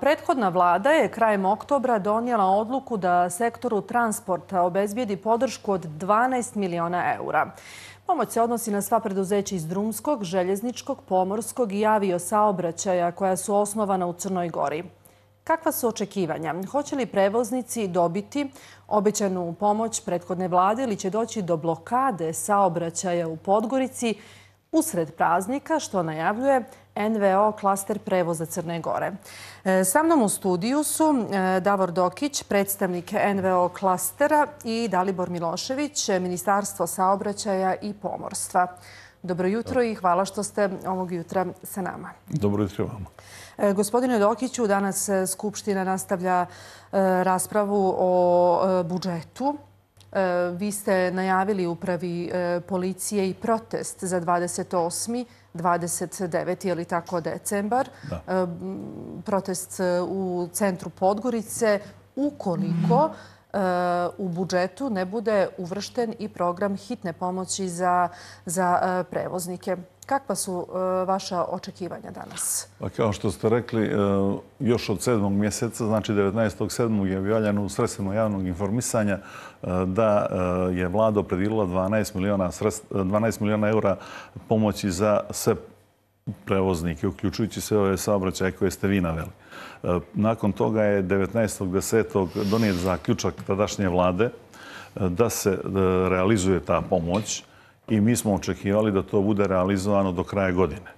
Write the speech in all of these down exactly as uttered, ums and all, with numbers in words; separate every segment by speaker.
Speaker 1: Prethodna vlada je krajem oktobra donijela odluku da sektoru transporta obezbijedi podršku od dvanaest miliona eura. Pomoć se odnosi na sva preduzeća iz drumskog, željezničkog, pomorskog i aviosaobraćaja koja su osnovana u Crnoj Gori. Kakva su očekivanja? Hoće li prevoznici dobiti obećanu pomoć prethodne vlade ili će doći do blokade saobraćaja u Podgorici usred praznika, što najavljuje en ve o klaster prevoza Crne Gore? Sa mnom u studiju su Davor Dokić, predstavnik en ve o klastera, i Dalibor Milošević, Ministarstvo saobraćaja i pomorstva. Dobro jutro i hvala što ste ovog jutra sa nama.
Speaker 2: Dobro jutro vama.
Speaker 1: Gospodine Dokiću, danas Skupština nastavlja raspravu o budžetu. Vi ste najavili upravi policije i protest za dvadeset osmi dvadeset deveti je li tako, decembar.
Speaker 2: Da.
Speaker 1: Protest u centru Podgorice ukoliko u budžetu ne bude uvršten i program hitne pomoći za, za prevoznike. Kakva su vaša očekivanja danas?
Speaker 2: Pa kao što ste rekli, još od sedmog mjeseca, znači devetnaestog sedmog je objavljeno u sredstvima javnog informisanja da je vlada opredijelila dvanaest miliona eura pomoći za sve prevoznike, uključujući sve ove saobraćaje koje ste vi naveli. Nakon toga je devetnaestog desetog donijet zaključak tadašnje vlade da se realizuje ta pomoć i mi smo očekivali da to bude realizovano do kraja godine.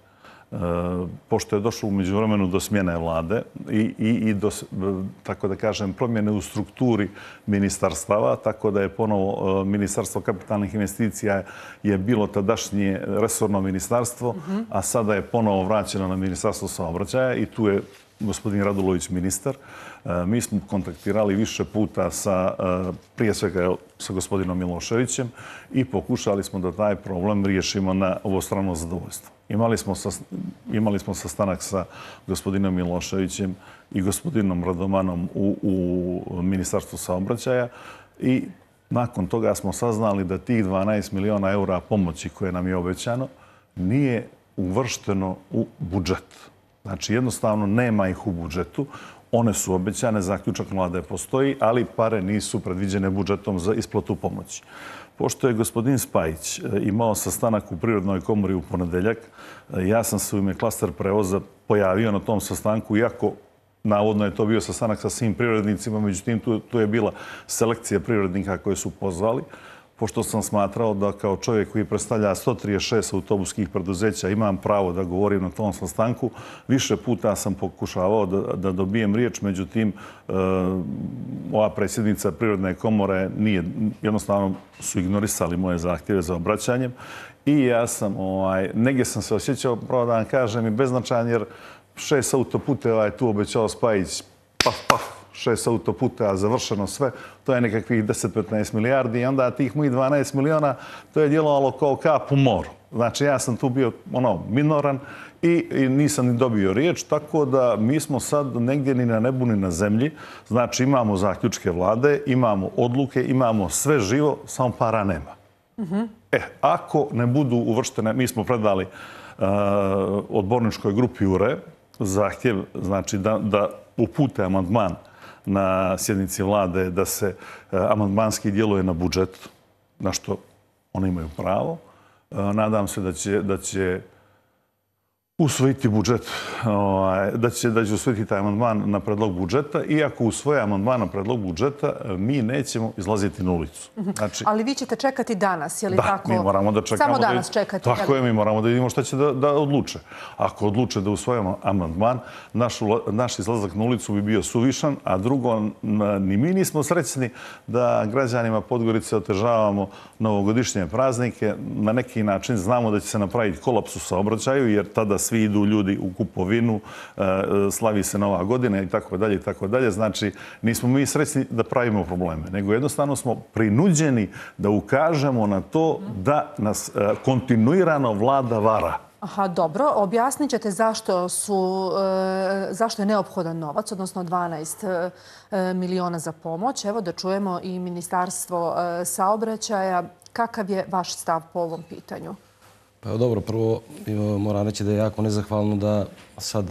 Speaker 2: Pošto je došlo u međuvremenu do smjene vlade i, i, i do, tako da kažem, promjene u strukturi ministarstava, tako da je ponovo Ministarstvo kapitalnih investicija je bilo tadašnje resorno ministarstvo, mm-hmm. a sada je ponovo vraćeno na Ministarstvo saobraćaja i tu je gospodin Radulović ministar. Mi smo kontaktirali više puta sa, prije svega sa gospodinom Miloševićem i pokušali smo da taj problem riješimo na obostrano zadovoljstvo. Imali smo, sa, imali smo sastanak sa gospodinom Miloševićem i gospodinom Radomanom u, u Ministarstvu saobraćaja i nakon toga smo saznali da tih dvanaest miliona eura pomoći koje nam je obećano nije uvršteno u budžet. Znači, jednostavno nema ih u budžetu. One su obećane, zaključak vlade postoji, ali pare nisu predviđene budžetom za isplatu pomoći. Pošto je gospodin Spajić imao sastanak u Privrednoj komori u ponedeljak, ja sam se u ime klaster prevoza pojavio na tom sastanku, iako navodno je to bio sastanak sa svim privrednicima, međutim tu, tu je bila selekcija privrednika koje su pozvali, pošto sam smatrao da kao čovjek koji predstavlja sto trideset šest autobuskih preduzeća imam pravo da govorim na tom sastanku. Više puta sam pokušavao da, da dobijem riječ, međutim, e, ova predsjednica Privredne komore nije, jednostavno su ignorisali moje zahtjeve za obraćanjem i ja sam, ovaj, negdje sam se osjećao, pravo da vam kažem, i beznačajan, jer šest autoputeva je tu obećao Spajić, paf, paf, šest autoputa, završeno sve, to je nekakvih deset do petnaest milijardi i onda tih mojih dvanaest miliona, to je djelovalo kao kap u moru. Znači, ja sam tu bio ono, minoran i, i nisam ni dobio riječ, tako da mi smo sad negdje ni na nebu ni na zemlji. Znači, imamo zaključke vlade, imamo odluke, imamo sve živo, samo para nema. Mm-hmm. E, ako ne budu uvrštene, mi smo predali uh, odborničkoj grupi U R E zahtjev, znači da, da upute amandman na sjednici vlade da se amandmanski djeluje na budžet, na što oni imaju pravo. Nadam se da će, da će usvojiti budžet, da će, da će usvojiti taj amandman na predlog budžeta. Iako usvoje amandman na predlog budžeta, mi nećemo izlaziti na ulicu. Znači,
Speaker 1: ali vi ćete čekati danas, je li
Speaker 2: da,
Speaker 1: tako?
Speaker 2: Da, mi moramo da čekamo.
Speaker 1: Samo danas
Speaker 2: da,
Speaker 1: čekate.
Speaker 2: Tako je, mi moramo da vidimo šta će da, da odluče. Ako odluče da usvojimo amandman, naš, naš izlazak na ulicu bi bio suvišan, a drugo, ni mi nismo srećni da građanima Podgorice otežavamo novogodišnje praznike. Na neki način znamo da će se napraviti kolaps u saobraćaju, jer tada svi idu ljudi u kupovinu, slavi se Nova godina i tako dalje i tako dalje. Znači, nismo mi srećni da pravimo probleme, nego jednostavno smo prinuđeni da ukažemo na to da nas kontinuirano vlada vara.
Speaker 1: Aha, dobro. Objasnit ćete zašto, su, zašto je neophodan novac, odnosno dvanaest miliona za pomoć. Evo da čujemo i Ministarstvo saobraćaja. Kakav je vaš stav po ovom pitanju?
Speaker 3: Pa dobro, prvo moram reći da je jako nezahvalno da sad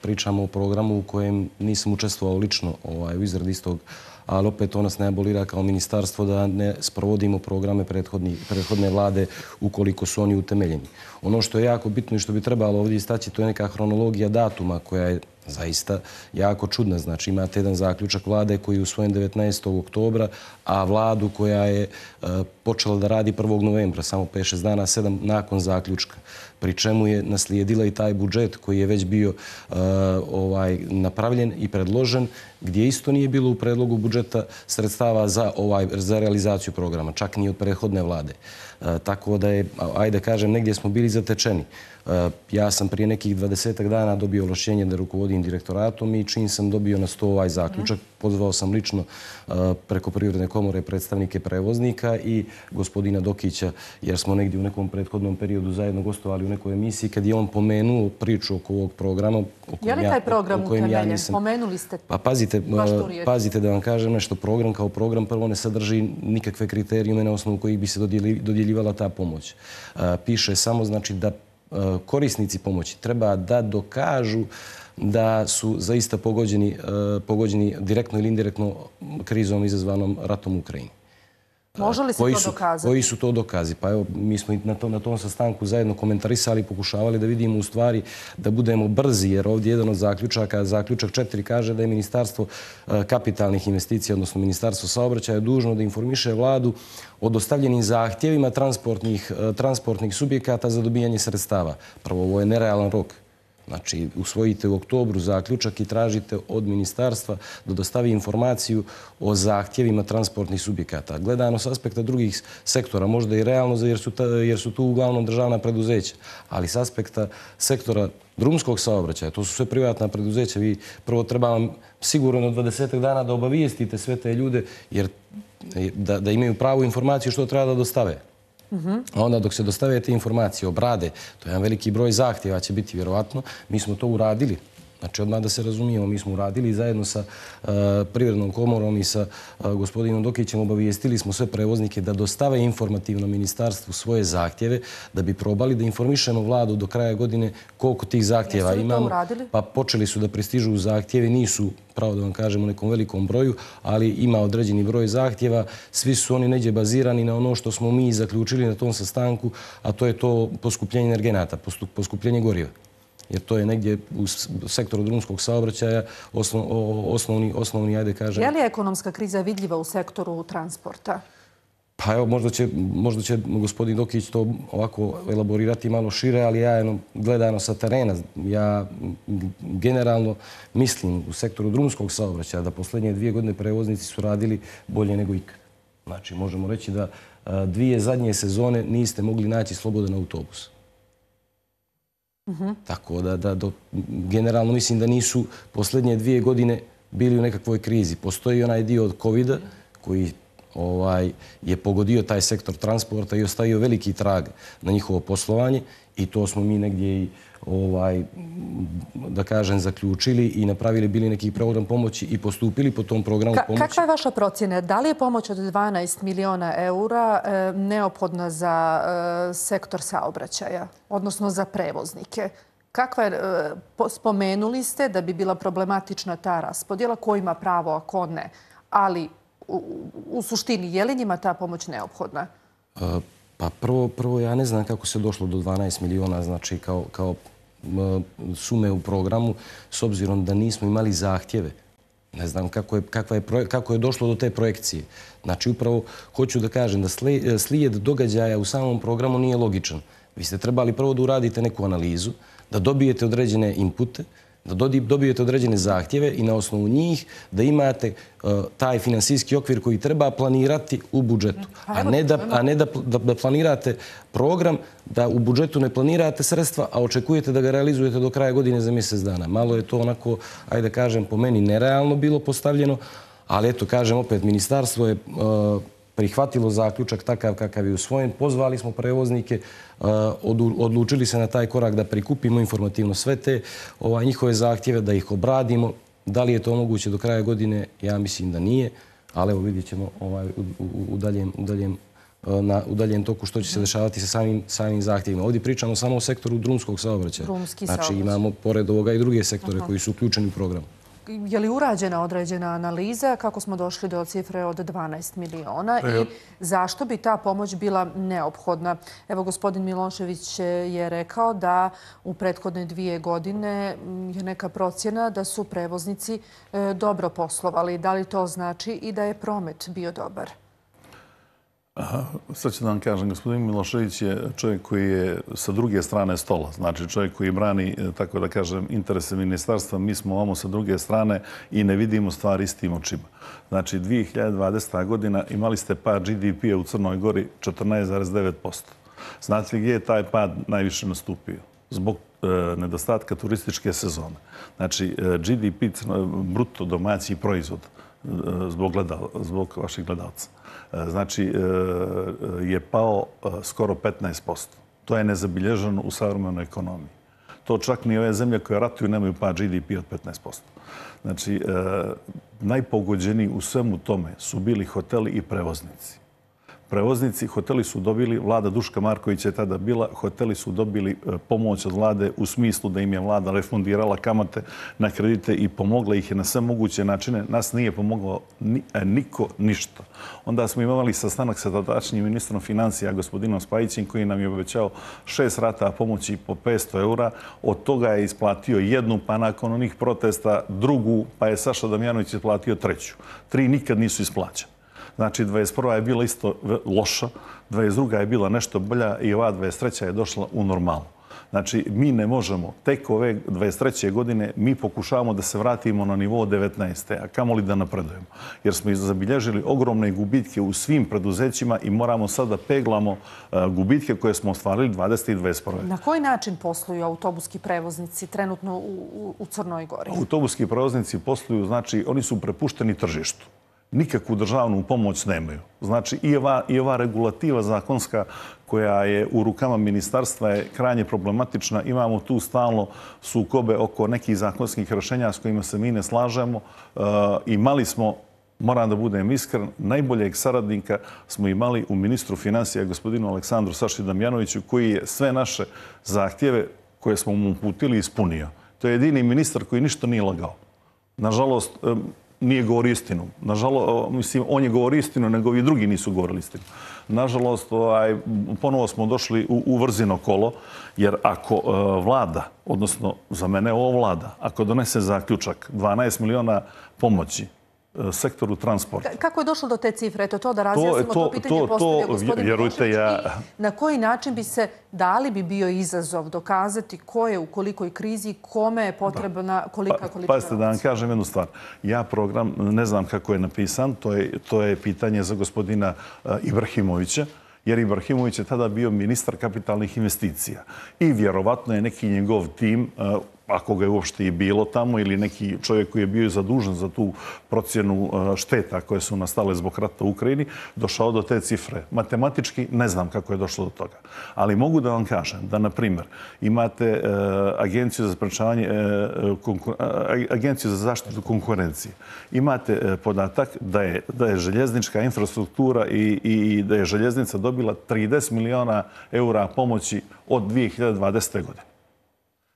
Speaker 3: pričamo o programu u kojem nisam učestvovao lično u izradi istog, ali opet to nas ne abolira kao ministarstvo da ne sprovodimo programe prethodne vlade ukoliko su oni utemeljeni. Ono što je jako bitno i što bi trebalo ovdje istaći, to je neka hronologija datuma koja je zaista jako čudna. Znači imate jedan zaključak vlade koji je usvojen devetnaestog oktobra, a vladu koja je počela da radi prvog novembra, samo pet šest dana, sedam nakon zaključka. Pri čemu je naslijedila i taj budžet koji je već bio napravljen i predložen, gdje isto nije bilo u predlogu budžeta sredstava za realizaciju programa, čak ni od prethodne vlade. Tako da je, ajde kažem, negdje smo bili zatečeni. Ja sam prije nekih dvadesetak dana dobio ovlašćenje da rukovodim direktoratom i čim sam dobio na sto ovaj zaključak, pozvao sam lično preko Privredne komore predstavnike prevoznika i gospodina Dokića, jer smo negdje u nekom prethodnom periodu zajedno gostovali u nekoj emisiji, kad je on pomenuo priču oko ovog programa.
Speaker 1: Je li taj program utemeljen? Pomenuli ste
Speaker 3: Pa pazite da vam kažem nešto. Program kao program prvo ne sadrži nikakve kriterijume na osnovu kojih bi se dodjeljivala ta pomoć. Piše samo znači da korisnici pomoći treba da dokažu da su zaista pogođeni direktno ili indirektno krizom izazvanom ratom u Ukrajini.
Speaker 1: Može li se to dokazati?
Speaker 3: Koji su to dokazi? Pa evo, mi smo na tom sastanku zajedno komentarisali i pokušavali da vidimo u stvari da budemo brzi, jer ovdje jedan od zaključaka, zaključak četiri, kaže da je Ministarstvo kapitalnih investicija, odnosno Ministarstvo saobraćaja, dužno da informiše vladu o dostavljenim zahtjevima transportnih subjekata za dobijanje sredstava. Prvo, ovo je nerealan rok. Znači, usvojite u oktobru zaključak i tražite od ministarstva da dostavi informaciju o zahtjevima transportnih subjekata. Gledano s aspekta drugih sektora, možda i realno, jer su tu uglavnom državna preduzeća, ali s aspekta sektora drumskog saobraćaja, to su sve privatna preduzeća. Vi prvo treba vam sigurno od dvadesetak dana da obavijestite sve te ljude, jer da imaju pravu informaciju što treba da dostave. A onda dok se dostave te informacije, obrade, to je jedan veliki broj zahtjeva, će biti vjerovatno, mi smo to uradili. Znači, odmah da se razumijemo, mi smo uradili zajedno sa Privrednom komorom i sa gospodinom Dokićem, obavijestili smo sve prevoznike da dostave informativno ministarstvu svoje zahtjeve, da bi probali da informišemo vladu do kraja godine koliko tih zahtjeva imamo. Pa počeli su da pristižu zahtjevi, nisu, pravo da vam kažem, u nekom velikom broju, ali ima određeni broj zahtjeva. Svi su oni neđe bazirani na ono što smo mi zaključili na tom sastanku, a to je to poskupljenje energenata, poskupljenje goriva. Jer to je negdje u sektoru drumskog saobraćaja osnovni, ajde kažem...
Speaker 1: Je li ekonomska kriza vidljiva u sektoru transporta?
Speaker 3: Pa evo, možda će gospodin Dokić to ovako elaborirati malo šire, ali ja gledano sa terena, ja generalno mislim u sektoru drumskog saobraćaja da posljednje dvije godine prevoznici su radili bolje nego ikad. Znači, možemo reći da dvije zadnje sezone niste mogli naći slobodan autobus. Tako da generalno mislim da nisu posljednje dvije godine bili u nekakvoj krizi. Postoji onaj dio od kovida koji je pogodio taj sektor transporta i ostavio veliki trag na njihovo poslovanje i to smo mi negdje i da kažem zaključili i napravili bili neki program pomoći i postupili po tom programu pomoći.
Speaker 1: Kakva je vaša procjena? Da li je pomoć od dvanaest miliona eura neophodna za sektor saobraćaja, odnosno za prevoznike? Kakva je, spomenuli ste da bi bila problematična ta raspodjela, ko ima pravo, a ko ne, ali u suštini je li njima ta pomoć neophodna?
Speaker 3: Pa prvo ja ne znam kako se došlo do dvanaest miliona, znači kao sume u programu, s obzirom da nismo imali zahtjeve. Ne znam kako je došlo do te projekcije. Znači, upravo hoću da kažem da slijed događaja u samom programu nije logičan. Vi ste trebali prvo da uradite neku analizu, da dobijete određene inpute, da dobijete određene zahtjeve i na osnovu njih da imate taj finansijski okvir koji treba planirati u budžetu. A ne da planirate program, da u budžetu ne planirate sredstva, a očekujete da ga realizujete do kraja godine za mjesec dana. Malo je to onako, ajde kažem, po meni nerealno bilo postavljeno, ali eto, kažem opet, ministarstvo je prihvatilo zaključak takav kakav je usvojen. Pozvali smo prevoznike, odlučili se na taj korak da prikupimo informativno sve te njihove zahtjeve, da ih obradimo. Da li je to moguće do kraja godine? Ja mislim da nije, ali evo vidjet ćemo u daljem na udaljen toku što će se dešavati sa samim, samim zahtjevima. Ovdje pričamo samo o sektoru drumskog saobraćaja.
Speaker 1: Drumski
Speaker 3: znači
Speaker 1: saobraćaj.
Speaker 3: imamo pored ovoga i druge sektore koji su uključeni u program.
Speaker 1: Je li urađena određena analiza kako smo došli do cifre od dvanaest miliona i zašto bi ta pomoć bila neophodna? Evo, gospodin Milošević je rekao da u prethodne dvije godine je neka procjena da su prevoznici dobro poslovali. Da li to znači i da je promet bio dobar?
Speaker 2: Sad ću da vam kažem, gospodin Milošević je čovjek koji je sa druge strane stola. Znači čovjek koji brani, tako da kažem, interese ministarstva. Mi smo ovamo sa druge strane i ne vidimo stvari istim očima. Znači, dvije hiljade dvadeseta. godina imali ste pad G D P-a u Crnoj Gori četrnaest zarez devet posto. Znate li gdje je taj pad najviše nastupio? Zbog e, nedostatka turističke sezone. Znači, G D P, bruto domaći proizvod, e, zbog, gledal, zbog vaših gledalca. Znači, je pao skoro petnaest posto. To je nezabilježeno u savremenoj ekonomiji. To čak ni ove zemlje koje ratuju nemaju pad G D P od petnaest posto. Znači, najpogođeniji u svemu tome su bili hoteli i prevoznici. Prevoznici, hoteli su dobili, vlada Duška Markovića je tada bila, hoteli su dobili pomoć od vlade u smislu da im je vlada refundirala kamate na kredite i pomogla ih je na sve moguće načine. Nas nije pomoglo ni, niko ništa. Onda smo imali sastanak sa tadašnjim ministrom financija, gospodinom Spajićem, koji nam je obećao šest rata pomoći po petsto eura. Od toga je isplatio jednu, pa nakon onih protesta drugu, pa je Saša Damjanović isplatio treću. Tri nikad nisu isplaćene. Znači, dvadeset prva je bila isto loša, dvadeset druga je bila nešto bolja i ova dvadeset treća je došla u normalu. Znači, mi ne možemo, tek ove dvadeset treće godine mi pokušavamo da se vratimo na nivo devetnaeste. a kamoli da napredujemo. Jer smo zabilježili ogromne gubitke u svim preduzećima i moramo sad da peglamo gubitke koje smo ostvarili dvadesete i dvadeset prve.
Speaker 1: Na koji način posluju autobuski prevoznici trenutno u, u Crnoj Gori?
Speaker 2: Autobuski prevoznici posluju, znači, oni su prepušteni tržištu. Nikakvu državnu pomoć nemaju. Znači, i ova, i ova regulativa zakonska koja je u rukama ministarstva je krajnje problematična. Imamo tu stalno sukobe oko nekih zakonskih rješenja s kojima se mi ne slažemo. E, imali smo, moram da budem iskren, najboljeg saradnika smo imali u ministru financija, gospodinu Aleksandru Saši Damjanoviću, koji je sve naše zahtjeve koje smo mu uputili ispunio. To je jedini ministar koji ništa nije lagao. Nažalost, nije govorio istinu. Nažalost, mislim, on je govorio istinu, nego i drugi nisu govorili istinu. Nažalost, ovaj, ponovo smo došli u, u vrzino kolo, jer ako uh, vlada, odnosno za mene ovo vlada, ako donese zaključak dvanaest miliona pomoći sektoru transporta.
Speaker 1: Kako je došlo do te cifre? Eto to da razjasnimo to, to, to pitanje
Speaker 2: to,
Speaker 1: postavio gospodin Milošević.
Speaker 2: Ja...
Speaker 1: Na koji način bi se, da li bi bio izazov dokazati ko je u kolikoj krizi, kome je potrebna kolika
Speaker 2: pa,
Speaker 1: količina?
Speaker 2: Pazite, da vam kažem jednu stvar. Ja program ne znam kako je napisan, to je, to je pitanje za gospodina uh, Ibrahimovića, jer Ibrahimović je tada bio ministar kapitalnih investicija. I vjerovatno je neki njegov tim, uh, ako ga je uopšte i bilo tamo, ili neki čovjek koji je bio zadužen za tu procjenu šteta koje su nastale zbog rata u Ukrajini, došao do te cifre. Matematički ne znam kako je došlo do toga. Ali mogu da vam kažem da, na primjer, imate uh, agenciju za sprečavanje, uh, konkur... agenciju za zaštitu konkurencije. Imate uh, podatak da je, da je željeznička infrastruktura i, i da je željeznica dobila trideset miliona eura pomoći od dvije hiljade dvadesete. godine.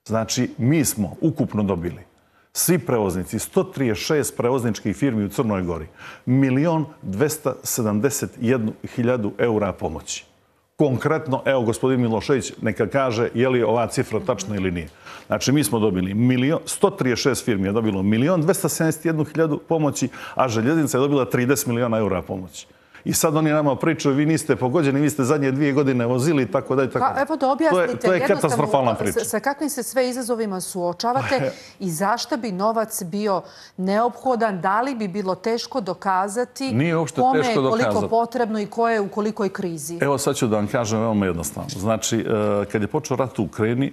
Speaker 2: Znači, mi smo ukupno dobili, svi prevoznici, sto trideset šest prevozničkih firmi u Crnoj Gori, milion dvesta sedamdeset jednu hiljadu eura pomoći. Konkretno, evo, gospodin Milošević neka kaže je li ova cifra tačna ili nije. Znači, mi smo dobili milion, sto trideset šest firmi je dobilo milion dvesta sedamdeset jednu hiljadu pomoći, a željeznica je dobila trideset miliona eura pomoći. I sad oni nama pričaju, vi niste pogođeni, vi ste zadnje dvije godine vozili i tako da i tako da.
Speaker 1: Evo da objasnite,
Speaker 2: to je, to je katastrofalna priča.
Speaker 1: Sa kakvim se sve izazovima suočavate i zašto bi novac bio neophodan, da li bi bilo teško dokazati kome je koliko potrebno i ko je u kolikoj krizi?
Speaker 2: Evo sad ću da vam kažem veoma jednostavno. Znači, kad je počeo rat u Ukrajini,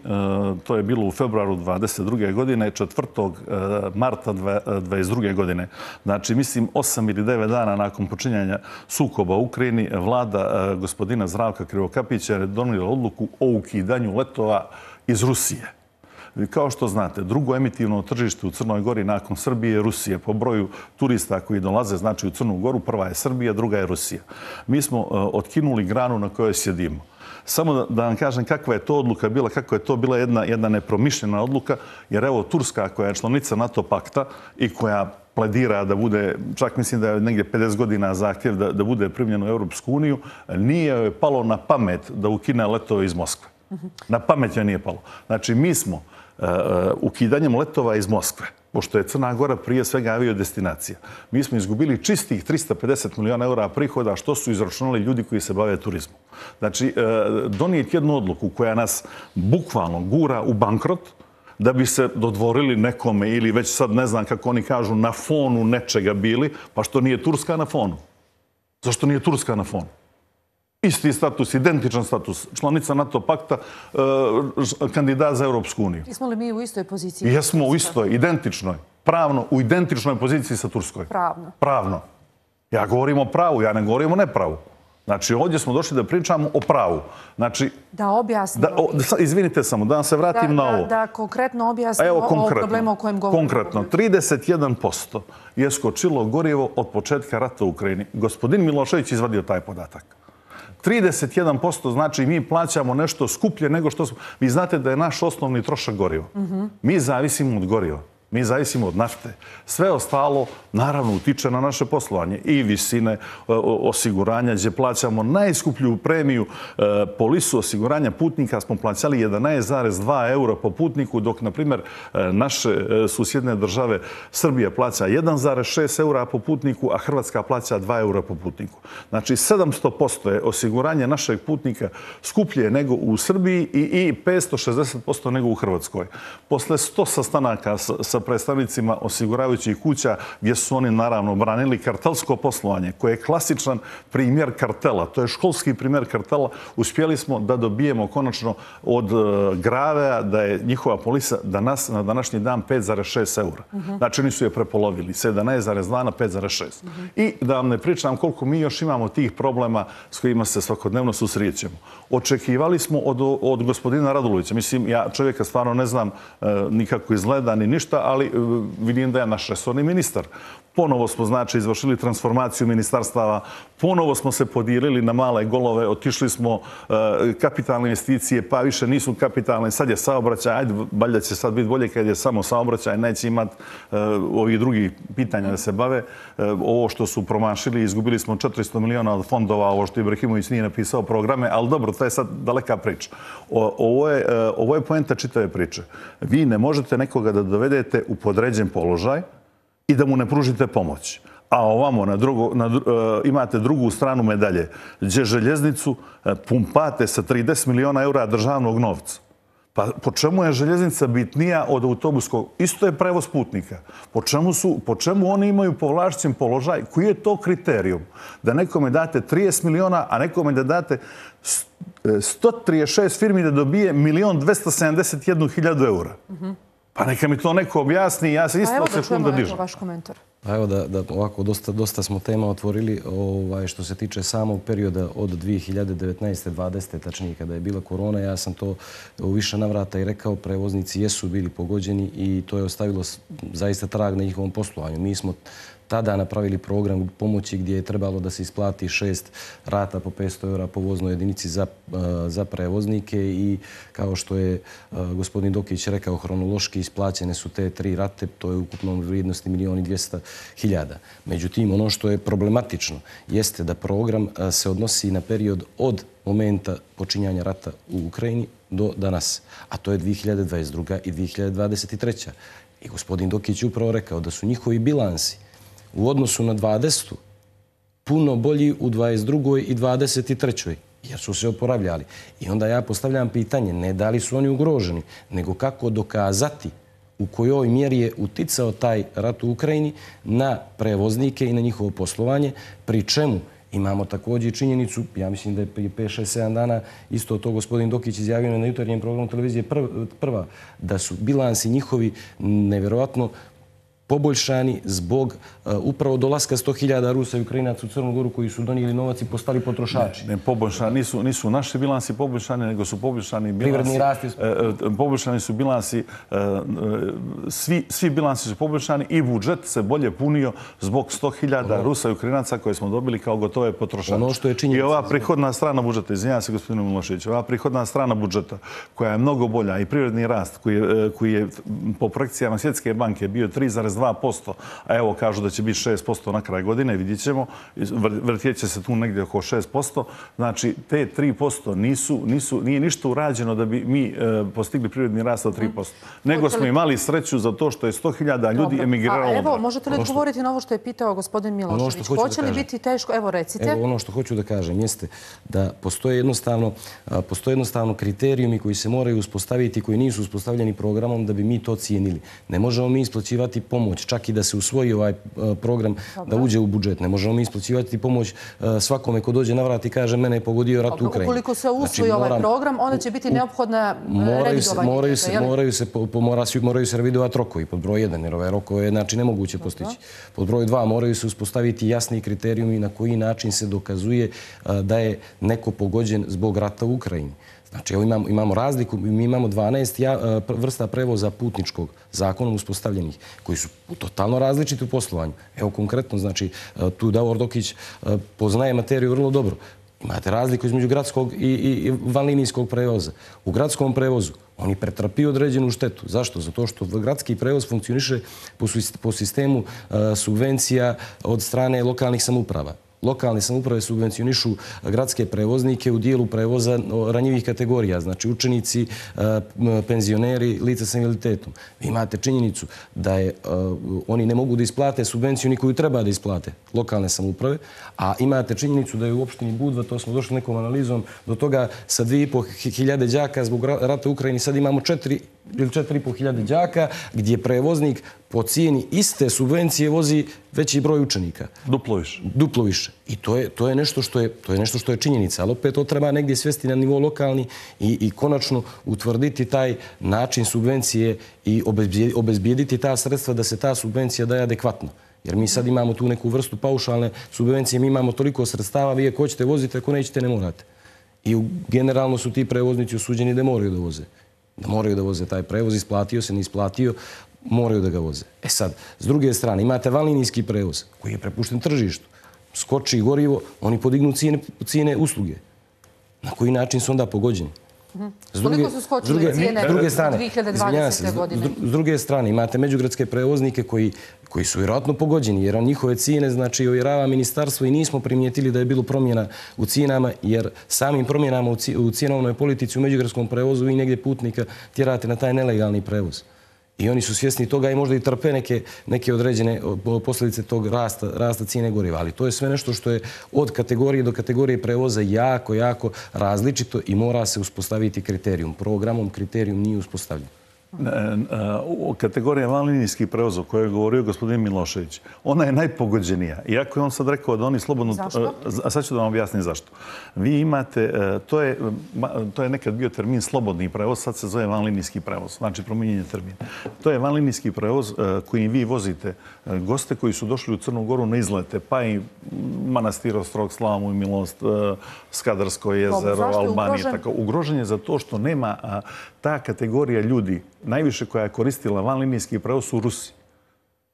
Speaker 2: to je bilo u februaru dvadeset druge. godine, četvrtog marta dvadeset druge. godine. Znači, mislim, osam ili devet dana nakon počinjanja sukoba u Ukrajini, vlada gospodina Zdravka Krivokapića je donijela odluku o ukidanju letova iz Rusije. Kao što znate, drugo emitivno tržište u Crnoj Gori nakon Srbije je Rusija. Po broju turista koji dolaze, znači u Crnu Goru, prva je Srbija, druga je Rusija. Mi smo otkinuli granu na kojoj sjedimo. Samo da, da vam kažem kakva je to odluka bila, kako je to bila jedna, jedna nepromišljena odluka, jer evo Turska koja je članica NATO pakta i koja pledira da bude, čak mislim da je negdje pedeset godina zahtjev da, da bude primljen u Europsku uniju, nije joj palo na pamet da ukine letove iz Moskve. Na pamet joj nije palo. Znači mi smo uh, ukidanjem letova iz Moskve, pošto je Crna Gora prije svega aviodestinacija, mi smo izgubili čistih trista pedeset miliona eura prihoda što su izračunali ljudi koji se bave turizmom. Znači, donijeti jednu odluku koja nas bukvalno gura u bankrot da bi se dodvorili nekome ili već sad ne znam kako oni kažu na fonu nečega bili, pa što nije Turska na fonu. Zašto nije Turska na fonu? Isti status, identičan status, članica NATO pakta, kandidat za Europsku uniju.
Speaker 1: Jesmo li mi u istoj poziciji?
Speaker 2: Jesmo u istoj, identičnoj, pravno, u identičnoj poziciji sa Turskoj.
Speaker 1: Pravno.
Speaker 2: Pravno. Ja govorim o pravu, ja ne govorim o nepravu. Znači, ovdje smo došli da pričamo o pravu. Znači,
Speaker 1: da objasnimo.
Speaker 2: Da, o, izvinite samo, da vam se vratim
Speaker 1: da,
Speaker 2: na ovo.
Speaker 1: Da, da konkretno objasnimo Evo, o problemu o kojem govorimo.
Speaker 2: Konkretno, trideset jedan posto je skočilo gorivo od početka rata u Ukrajini. Gospodin Milošević izvadio taj podatak. trideset jedan posto znači mi plaćamo nešto skuplje nego što smo... Vi znate da je naš osnovni trošak gorivo. Mm-hmm. Mi zavisimo od goriva. Mi zavisimo od nafte. Sve ostalo, naravno, utiče na naše poslovanje. I visine osiguranja, gdje plaćamo najskuplju premiju polisu osiguranja putnika, smo plaćali jedanaest zarez dva eura po putniku, dok, na primjer, naše susjedne države Srbija plaća jedan zarez šest eura po putniku, a Hrvatska plaća dva eura po putniku. Znači, sedamsto posto je osiguranje našeg putnika skuplje nego u Srbiji i petsto šezdeset posto nego u Hrvatskoj. Posle sto sastanaka sa predstavnicima osiguravajućih kuća gdje su oni naravno branili kartelsko poslovanje koje je klasičan primjer kartela. To je školski primjer kartela. Uspjeli smo da dobijemo konačno od Gravea da je njihova polisa danas na današnji dan pet zarez šest eura. Uh-huh. Znači oni su je prepolovili s jedanaest zarez dva na pet zarez šest. Uh-huh. I da vam ne pričam koliko mi još imamo tih problema s kojima se svakodnevno susrećemo. Očekivali smo od, od gospodina Radulovića. Mislim, ja čovjeka stvarno ne znam e, nikako izgleda ni ništa, ali vidim da je naš resorni ministar. Ponovo smo, znači, izvršili transformaciju ministarstava, ponovo smo se podijelili na male golove, otišli smo uh, kapitalne investicije, pa više nisu kapitalne, sad je saobraćaj, ajde, valjda će sad biti bolje kad je samo saobraćaj, neće imati uh, ovih drugih pitanja da se bave. Uh, ovo što su promašili, izgubili smo četiristo miliona od fondova, ovo što Ibrahimović nije napisao programe, ali dobro, to je sad daleka priča. O, ovo, je, uh, ovo je poenta čitave priče. Vi ne možete nekoga da dovedete u podređen položaj i da mu ne pružite pomoć. A ovamo na drugo, na, uh, imate drugu stranu medalje, gdje željeznicu uh, pumpate sa trideset miliona eura državnog novca. Pa po čemu je željeznica bitnija od autobuskog? Isto je prevoz putnika. Po čemu, su, po čemu oni imaju povlašćen položaj? Koji je to kriterijum? Da nekome date trideset miliona, a nekome da date sto trideset šest firmi da dobije milion dvesta sedamdeset jednu hiljadu eura. Mm-hmm. Pa neka mi to neko objasni, ja se isto sekunda dižem.
Speaker 1: Evo da vaš komentar.
Speaker 3: Pa evo da, da ovako dosta, dosta smo tema otvorili ovaj, što se tiče samog perioda od dvije hiljade devetnaeste dvadesete tačnije kada je bila korona. Ja sam to u više navrata i rekao, prevoznici jesu bili pogođeni i to je ostavilo zaista trag na njihovom poslovanju. Mi smo tada napravili program pomoći gdje je trebalo da se isplati šest rata po petsto eura po voznoj jedinici za, za prevoznike i kao što je gospodin Dokić rekao, hronološki isplaćene su te tri rate, to je ukupno vrijednosti milijon i dvjesto hiljada. Međutim, ono što je problematično jeste da program se odnosi na period od momenta počinjanja rata u Ukrajini do danas, a to je dvije hiljade dvadeset druga i dvije hiljade dvadeset treća. I gospodin Dokić je upravo rekao da su njihovi bilansi u odnosu na dvadesetu puno bolji u dvadeset drugoj i dvadeset trećoj jer su se oporavljali. I onda ja postavljam pitanje, ne da li su oni ugroženi, nego kako dokazati u kojoj mjeri je uticao taj rat u Ukrajini na prevoznike i na njihovo poslovanje, pri čemu imamo također činjenicu, ja mislim da je prije pet šest sedam dana isto to gospodin Dokić izjavio na jutarnjem programu televizije prva, da su bilansi njihovi nevjerovatno poboljšani zbog uh, upravo dolaska sto hiljada Rusa i Ukrajinaca u Crnu Goru koji su donijeli novac i postali potrošači.
Speaker 2: Ne, ne poboljšani, nisu, nisu naši bilansi poboljšani, nego su poboljšani bilansi...
Speaker 3: Privredni rast je...
Speaker 2: E, poboljšani su bilansi, e, svi, svi bilansi su poboljšani i budžet se bolje punio zbog sto hiljada ono, Rusa i Ukrajinaca koje smo dobili kao gotove potrošače.
Speaker 3: Ono što je činjenica.
Speaker 2: I ova prihodna strana budžeta, izvinjam se gospodinu Miloševiću, ova prihodna strana budžeta koja je mnogo bolja i privredni rast koji je, koji je po projekcijama Svjetske banke bio tri zarez dva posto, a evo kažu da će biti šest posto na kraj godine, vidjet ćemo, vrtijet će se tu negdje oko šest posto. Znači, te tri posto nisu, nisu, nije ništa urađeno da bi mi e, postigli privredni rast od tri posto. Nego smo imali sreću za to što je sto hiljada ljudi emigriralo.
Speaker 1: A evo, možete li odgovoriti na ovo što je pitao gospodin Milošević? Hoće li biti teško? Evo, recite.
Speaker 3: Evo, ono što hoću da kažem jeste da postoje jednostavno, postoje jednostavno kriterijumi koji se moraju uspostaviti, koji nisu uspostavljeni programom da bi mi to cijenili. Ne možemo mi isplaćivati pomoć, čak i da se usvoji ovaj program da uđe u budžet. Ne možemo mi isplaćivati pomoć svakome ko dođe na vrat i kaže mene je pogodio rat u Ukrajini.
Speaker 1: Ukoliko se usvoji znači, ovaj program, onda će biti neophodna revidovanje.
Speaker 3: Moraju se, moraju se, moraju se revidovati rokovi pod broj jedan, jer ove rokove je znači, nemoguće postići. Pod broj dva moraju se uspostaviti jasni kriterijumi na koji način se dokazuje da je neko pogođen zbog rata u Ukrajini. Znači, evo imamo, imamo razliku, mi imamo dvanaest ja, vrsta prevoza putničkog zakonom uspostavljenih, koji su totalno različiti u poslovanju. Evo konkretno, znači, tu Davor Dokić poznaje materiju vrlo dobro. Imate razliku između gradskog i, i vanlinijskog prevoza. U gradskom prevozu oni pretrpiju određenu štetu. Zašto? Zato što gradski prevoz funkcioniše po, po sistemu uh, subvencija od strane lokalnih samouprava. Lokalne samouprave subvencionišu gradske prevoznike u dijelu prevoza ranjivih kategorija, znači učenici, penzioneri, lica sa invaliditetom. Vi imate činjenicu da je, oni ne mogu da isplate subvenciju ni koju treba da isplate lokalne samouprave, a imate činjenicu da je u opštini Budva, to smo došli nekom analizom, do toga sa dvije i po hiljade đaka zbog rata u Ukrajini sad imamo četiri ili četiri i po hiljade đaka gdje prevoznik po cijeni iste subvencije vozi veći broj učenika.
Speaker 2: Duplo više.
Speaker 3: Duplo više. I to je, to je, nešto, što je, to je nešto što je činjenica. Ali opet to treba negdje svesti na nivo lokalni i, i konačno utvrditi taj način subvencije i obezbijediti ta sredstva da se ta subvencija daje adekvatno. Jer mi sad imamo tu neku vrstu paušalne subvencije, mi imamo toliko sredstava, vi ako hoćete vozite, ako nećete ne morate. I generalno su ti prevoznici osuđeni da moraju da voze. Da moraju da voze taj prevoz, isplatio se, ne isplatio, moraju da ga voze. E sad, s druge strane, imate vanlinijski prevoz koji je prepušten tržištu. Skoči gorivo, oni podignu cijene, cijene usluge. Na koji način su onda pogođeni?
Speaker 1: S druge, Koliko su skočile druge, cijene druge strane, dvije hiljade dvadesete. godine?
Speaker 3: S druge strane, imate međugradske prevoznike koji, koji su vjerojatno pogođeni, jer njihove cijene, znači, ovjerava ministarstvo i nismo primijetili da je bilo promjena u cijenama, jer samim promjenama u cijenovnoj politici u međugradskom prevozu vi negdje putnika tjerate na taj nelegalni prevoz. I oni su svjesni toga i možda i trpe neke, neke određene posljedice tog rasta, rasta cijene goriva. Ali to je sve nešto što je od kategorije do kategorije prevoza jako, jako različito i mora se uspostaviti kriterijum. Programom kriterijum nije uspostavljen.
Speaker 2: Kategorija vanlinijskih prevoza o kojoj je govorio gospodin Milošević, ona je najpogođenija. Iako je on sad rekao da oni slobodno...
Speaker 1: Zašto?
Speaker 2: A sad ću da vam objasnim zašto. Vi imate, to je, to je nekad bio termin slobodni prevoz, sad se zove vanlinijski prevoz, znači promijenjen je termin. To je vanlinijski prevoz kojim vi vozite goste koji su došli u Crnu Goru na izlete, pa i Manastir Ostrog, Slamu i Milost, Skadarsko jezero, Albanija. Tako, ugrožen je za to što nema ta kategorija ljudi, najviše koja je koristila vanlinijski prevoz su Rusi.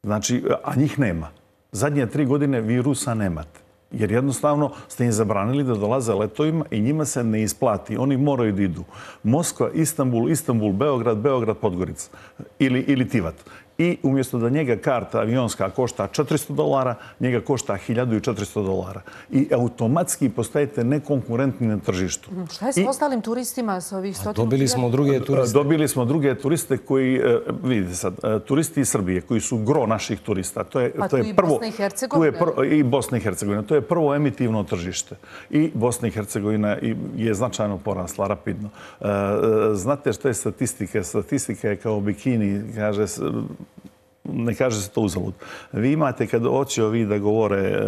Speaker 2: Znači, a njih nema. Zadnje tri godine vi Rusa nemate. Jer jednostavno ste im zabranili da dolaze letovima i njima se ne isplati. Oni moraju da idu. Moskva, Istanbul, Istanbul, Beograd, Beograd, Podgorica ili, ili Tivat. I umjesto da njega karta avionska košta četiristo dolara, njega košta hiljadu četiristo dolara. I automatski postajete nekonkurentni na tržištu.
Speaker 1: Šta je s I, ostalim turistima sa ovih stotinu?
Speaker 3: Dobili smo druge turiste.
Speaker 2: Dobili smo druge turiste koji, vidite sad, turisti iz Srbije koji su gro naših turista. To je,
Speaker 1: A
Speaker 2: to
Speaker 1: tu
Speaker 2: je
Speaker 1: i
Speaker 2: prvo,
Speaker 1: Bosna i Hercegovina?
Speaker 2: Tu je I Bosna i Hercegovina. To je prvo emitivno tržište. I Bosna i Hercegovina je značajno porasla, rapidno. Znate što je statistika? Statistika je kao bikini, kaže ne kaže se to uzalud. Vi imate, kad hoće ovi da govore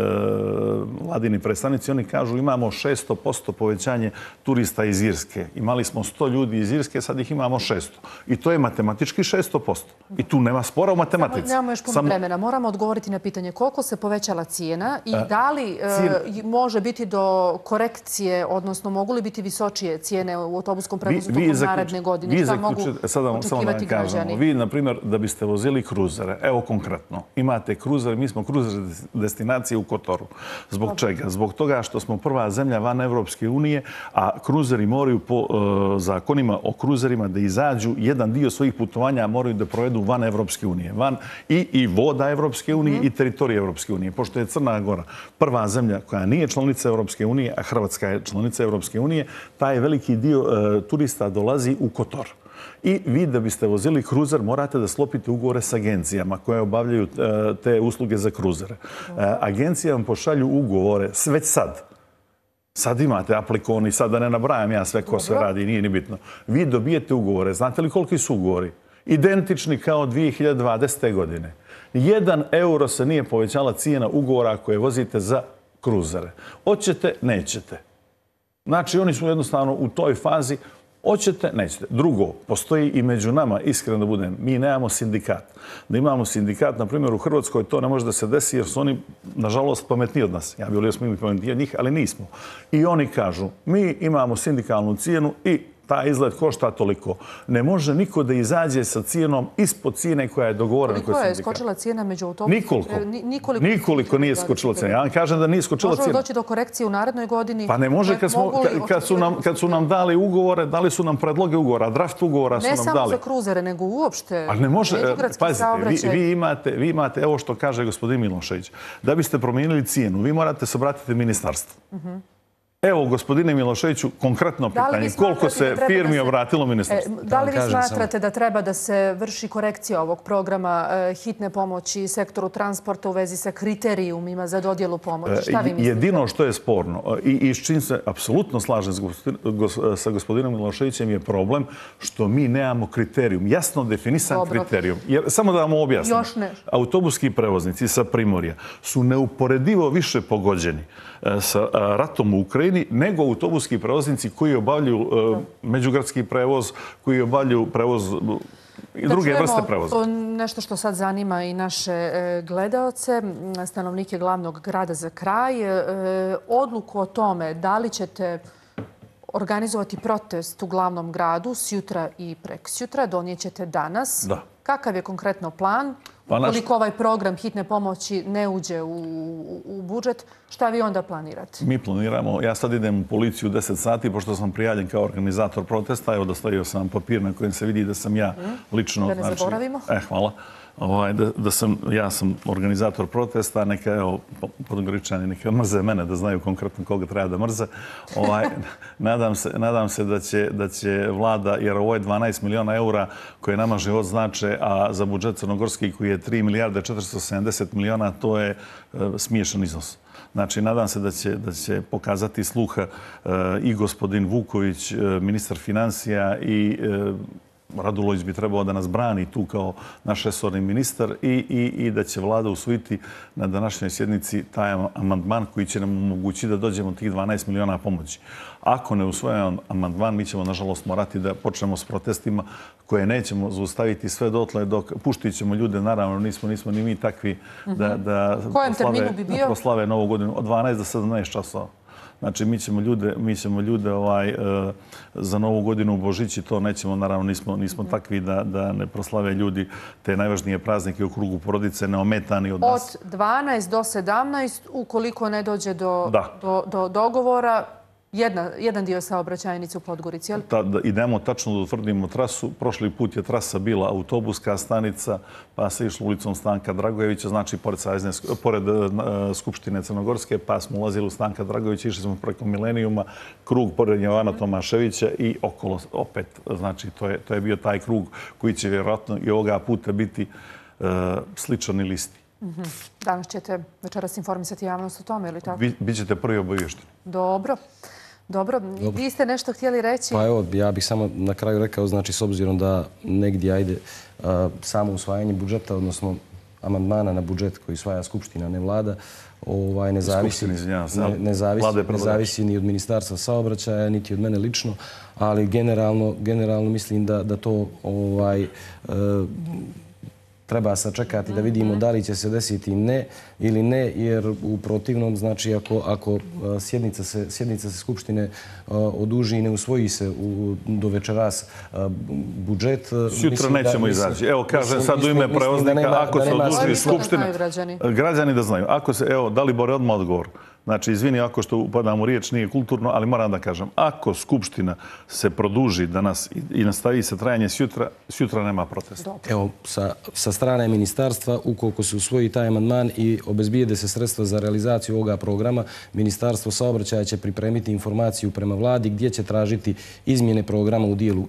Speaker 2: vladini predstavnici, oni kažu imamo šesto posto povećanje turista iz Irske. Imali smo sto ljudi iz Irske, sad ih imamo šesto. I to je matematički šesto posto. I tu nema spora u matematici.
Speaker 1: Nemamo još puno vremena. Moramo odgovoriti na pitanje koliko se povećala cijena i da li može biti do korekcije, odnosno mogu li biti visočije cijene u autobuskom prevozu tokom naredne godine? Šta mogu očekivati građani?
Speaker 2: Vi, na primjer, da biste vozili kruzere, evo konkretno, imate kruzere, mi smo kruzer destinacije u Kotoru. Zbog čega? Zbog toga što smo prva zemlja van Evropske unije, a kruzeri moraju po zakonima o kruzerima da izađu jedan dio svojih putovanja moraju da provedu van Evropske unije. Van i voda Evropske unije i teritorije Evropske unije. Pošto je Crna Gora prva zemlja koja nije članica Evropske unije, a Hrvatska je članica Evropske unije, taj veliki dio turista dolazi u Kotor. I vi da biste vozili kruzer morate da sklopite ugovore s agencijama koje obavljaju te usluge za kruzere. Agencije vam pošalju ugovore već sad. Sad imate aplikoni, sad da ne nabrajam ja sve ko sve radi, nije ni bitno. Vi dobijete ugovore. Znate li koliki su ugovori? Identični kao dvije hiljade dvadesete. godine. Jedan euro se nije povećala cijena ugovora koje vozite za kruzere. Hoćete, nećete. Znači, oni su jednostavno u toj fazi hoćete, nećete. Drugo, postoji i među nama, iskreno da budem, mi nemamo sindikat. Da imamo sindikat, na primjer, u Hrvatskoj to ne može da se desi jer su oni, nažalost, pametniji od nas. Ja bih volio smo imali pametniji od njih, ali nismo. I oni kažu, mi imamo sindikalnu cijenu i taj izgled košta toliko. Ne može niko da izađe sa cijenom ispod cijene koja je dogovorena kod sindikata.
Speaker 1: Koliko je skočila cijena među autobusom?
Speaker 2: Nikoliko. Nikoliko nije skočila cijena. Ja vam kažem da nije skočila cijena.
Speaker 1: Može li doći do korekcije u narednoj godini?
Speaker 2: Pa ne može kad su nam dali ugovore, dali su nam predloge ugovora, draft ugovora su nam dali.
Speaker 1: Ne samo za kruzere, nego uopšte.
Speaker 2: Ali ne može, pazite, vi imate, evo što kaže gospodin Milošević, da biste promijenili cijenu, vi morate se obratiti ministarstvu. Evo, gospodine Miloševiću, konkretno pitanje. Koliko se firmi obratilo ministarstvu?
Speaker 1: Da li vi smatrate da treba da se vrši korekcija ovog programa hitne pomoći sektoru transporta u vezi sa kriterijumima za dodjelu pomoći? Šta vi mislite?
Speaker 2: Jedino što je sporno i s čim se apsolutno slažem sa gospodinom Miloševićem je problem što mi nemamo kriterijum, jasno definisan kriterijum. Samo da vam objasnim. Autobuski prevoznici sa Primorja su neuporedivo više pogođeni sa ratom u Ukrajini nego autobuski prevoznici koji obavljaju međugradski prevoz, koji obavljaju prevoz i druge vrste prevoza.
Speaker 1: Da čujemo nešto što sad zanima i naše gledaoce, stanovnike glavnog grada za kraj. Odluku o tome da li ćete organizovati protest u glavnom gradu sjutra i preksjutra donijet ćete danas.
Speaker 2: Da.
Speaker 1: Kakav je konkretno plan? Koliko ovaj program hitne pomoći ne uđe u budžet, šta vi onda planirate?
Speaker 2: Mi planiramo, ja sad idem u policiju u deset sati, pošto sam prijavljen kao organizator protesta, evo dostavio sam papir na kojem se vidi da sam ja lično...
Speaker 1: Da ne zaboravimo.
Speaker 2: E, hvala. Da sam, ja sam organizator protesta, neka, evo, podgoričani, neka mrze mene, da znaju konkretno koga treba da mrze. Nadam se da će vlada, jer ovo je dvanaest miliona eura koje nama život znače, a za budžet crnogorski koji je tri milijarde četiristo sedamdeset miliona, to je smiješan iznos. Znači, nadam se da će pokazati sluha i gospodin Vuković, ministar financija, i Radulović bi trebao da nas brani tu kao naš resorni ministar i da će vlada usvojiti na današnjoj sjednici taj amandman koji će nam omogućiti da dođemo tih dvanaest miliona pomoći. Ako ne usvojimo amandman, mi ćemo, nažalost, morati da počnemo s protestima koje nećemo zaustaviti sve dotle dok puštit ćemo ljude. Naravno, nismo ni mi takvi da proslave Novu godinu od dvanaest do sedamnaest časova. Znači, mi ćemo ljude, mi ćemo ljude za Novu godinu u Božići, to nećemo, naravno, nismo takvi da ne proslave ljudi te najvažnije praznike u krugu porodice, neometani od nas.
Speaker 1: Od dvanaest do sedamnaest, ukoliko ne dođe do dogovora, jedan dio saobraćajnice u Podgorici, jel?
Speaker 2: Idemo tačno da utvrdimo trasu. Prošli put je trasa bila autobuska stanica, pa se išlo ulicom Stanka Dragojevića, znači pored Skupštine Crnogorske, pa smo ulazili u Stanka Dragojevića, išli smo preko Milenijuma, krug pored Jovana Tomaševića i okolo opet. Znači, to je bio taj krug koji će vjerojatno i ovoga puta biti sličan ili isti.
Speaker 1: Danas ćete večeras informisati javnost o tome, ili tako?
Speaker 2: Bićete prvi obavješteni.
Speaker 1: Dobro. Dobro. Vi ste nešto htjeli reći?
Speaker 3: Pa evo, ja bih samo na kraju rekao, znači, s obzirom da negdje ajde samo usvajanje budžeta, odnosno amandmana na budžet koji usvaja Skupština, ne vlada, ovaj, ne zavisi, ne, ne zavisi, ne zavisi ni od Ministarstva saobraćaja, niti od mene lično, ali generalno, generalno mislim da, da to ovaj, e, treba sačekati da vidimo da li će se desiti ne ili ne, jer u protivnom, znači ako, ako sjednica se, sjednica se Skupštine oduži i ne usvoji se u, do večeras budžet...
Speaker 2: Sutra nećemo izaći. Evo, kažem sad u ime prevoznika, ako se oduži Skupštine... Građani da znaju. Ako se, evo, da li Bore odmah odgovor? Znači, izvini ako što upadam u riječ, nije kulturno, ali moram da kažem, ako Skupština se produži danas i nastavi se trajanje sjutra, sjutra nema protesta.
Speaker 3: Evo, sa, sa strane ministarstva, ukoliko se usvoji taj amandman i obezbijede se sredstva za realizaciju ovoga programa, Ministarstvo saobraćaja će pripremiti informaciju prema vladi gdje će tražiti izmjene programa u dijelu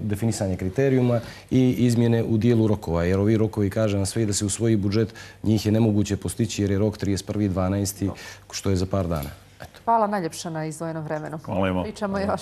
Speaker 3: definisanja kriterijuma i izmjene u dijelu rokova. Jer ovi rokovi, kažem sve, da se usvoji budžet, njih je nemoguće postići jer je rok trideset prvi dvanaesti što je za par dana.
Speaker 1: Hvala najljepša na izdvojenom vremenu.
Speaker 2: Hvala ima.
Speaker 1: Pričamo još.